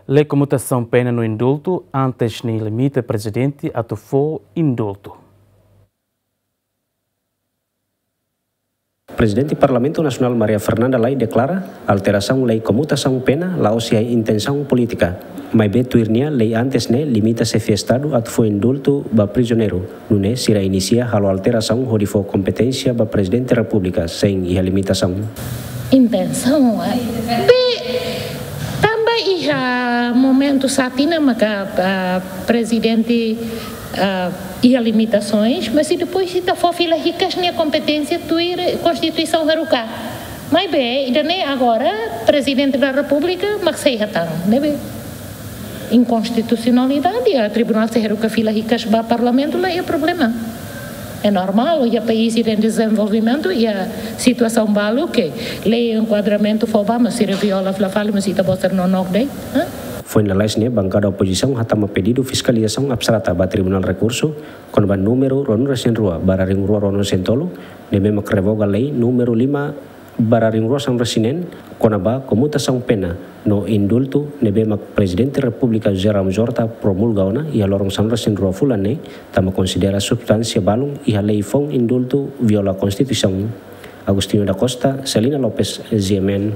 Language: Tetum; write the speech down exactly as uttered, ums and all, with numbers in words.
Lei komutasaun pena no indultu antes ne'e limita prezidente atu fó indultu. Prezidente Parlamentu Nasionál Maria Fernanda Lay deklara alterasaun lei komutasaun pena la'ós iha intensaun polítika. Maibé tuir nia, lei antes ne'e limita xefe Estadu atu fó indultu ba prizioneiru. Nune'e sira inisia halo alterasaun hodi fó kompeténsia ba Prezidente Repúblika sein iha limitasaun. Intensaun, eh, be, tanba iha momentu satina maka, ah, prezidente, ah, iha limitasoens, mas i depois ita fó fila hikas nia kompeténsia tuir Konstituisaun haruka. Maibé ida-ne'e agora Prezidente da Repúblika mak sei hatán, ne'ebé inkonstitusionalidade, ah, tribunál sei haruka fila hikas ba Parlamentu, la iha problema. É normál, iha país ida em desenvolvimento, iha situasaun balu ke lei enkuadramentu fó ba, mas sira viola fila fali, mas ita-boot sira nonook de'it, hã? Foin lalais ne'e, bankada opozisaun hatama pedidu fiskalizasaun abstrata ba Tribunál Rekursu kona-ba númeru ruanulu-resin-rua barra rihun rua ruanulu-resin-tolu, ne'ebé mak revoga lei númeru lima barra rihun rua sanulu-resin-neen, kona-ba komutasaun pena no indultu, ne'ebé mak Prezidente Repúblika José Ramos Horta promulga ona iha loron sanulu-resin-rua fulan ne'e, tanba konsidera substánsia balun iha lei foun indultu viola Konstituisaun. Agostinho da Costa, Celina Lopes, G M N.